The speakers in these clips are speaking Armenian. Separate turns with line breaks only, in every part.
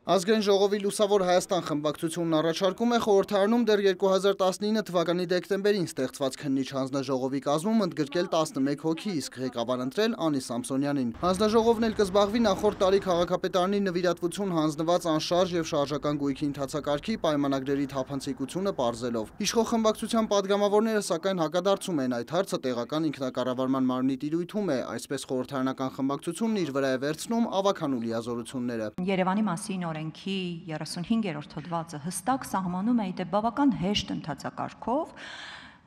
Ազգային ժողովի Լուսավոր Հայաստան խմբակցությունն առաջարկում է խորհրդարանում դեռ 2019 թվականի դեկտեմբերին ստեղծված քննիչ հանձնաժողովի կազմում ընդգրկել 11 հոգի, իսկ ղեկավար ընտրել Անի Սամսոնյանին։ Հանձնաժողովն էլ կզբաղվի նախորդ տարի քաղաքապետարանի նվիրատվություն հանձնված անշարժ եւ շարժական գույքի ընթացակարգի պայմանագրերի թափանցիկությունը պարզելով։ Իշխող խմբակցության падգամավորները սակայն հակադարձում են այդ հարցը տեղական ինքնակառավարման մարմնի տիրույթում է, այսպես խորհրդարանական խմբակցությունն իր վրա է վերցնում ավականու լիազորությունները։
Երևանի մասին օրենքի 35-րդ հոդվածը հստակ սահմանում է իդե բավական հեշտ ընթացակարգով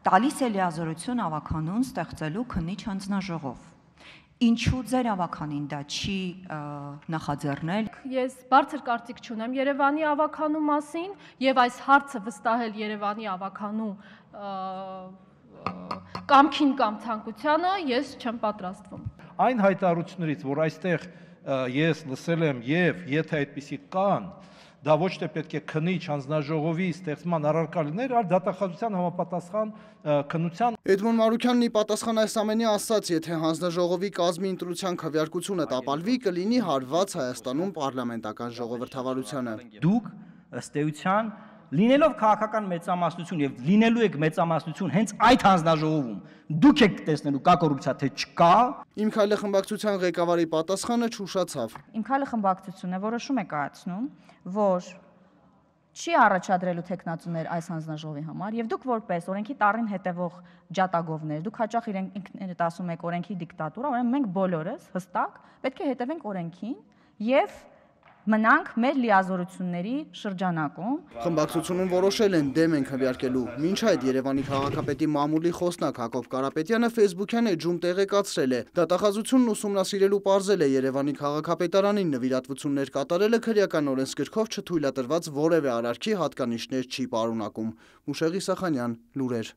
տալիս է լիազորություն ավականուն ստեղծելու քննիչ հանձնաժողով։ Ինչու ձեր ավականին դա չի նախաձեռնել։
Ես բարձր կարծիք չունեմ Երևանի ավականու մասին եւ այս հարցը վստահել Երևանի ավականու կամքին կամ ցանկությանը ես չեմ պատրաստվում։
Այն հայտարարություններից, որ այստեղ ես լսել եմ եւ եթե այդպիսի կան, դա ոչ թե պետք է քննիչ հանձնաժողովի ստեղծման առարկա լիներ, այլ դատախազության համապատասխան քննության։
Էդմոն Մարուքյանն ի պատասխան այս ամենի ասաց, եթե հանձնաժողովի կազմի ընտրության քվեարկությունը տապալվի, կլինի հարված Հայաստանում պարլամենտական ժողովրդավարությանը։
Դուք ըստ էության լինելով քաղաքական մեծամասնություն եւ լինելու եք մեծամասնություն հենց այդ հանձնաժողովում դուք եք տեսնելու կա կոռուպցիա թե չկա։
Իմ քայլը խմբակցության ղեկավարի պատասխանը չուշացավ։
Իմ քայլը խմբակցությունը որոշում է կայացնում, որ չի առաջադրելու տեխնացուներ այս հանձնաժողովի համար եւ դուք որպես օրենքի տառին հետևող ջատագովներ, դուք հաճախ ինքներդ ասում եք օրենքի դիկտատուրա, ուրեմն մենք բոլորս հստակ պետք է հետևենք օրենքին եւ մնանք մեր լիազորությունների շրջանակում։
Խմբակցությունում որոշել են դեմ են քվեարկելու։ Մինչ այդ Երևանի քաղաքապետի մամուլի խոսնակ Հակոբ Կարապետյանը Facebook-յան էջում տեղեկացրել է. դատախազությունն ուսումնասիրելու պարզել է Երևանի քաղաքապետարանին նվիրատվություններ կատարելը քրեական օրենսգրքով չթույլատրված որևէ արարքի հատկանիշներ չի պարունակում։ Մուշեղի Սախանյան, լուրեր։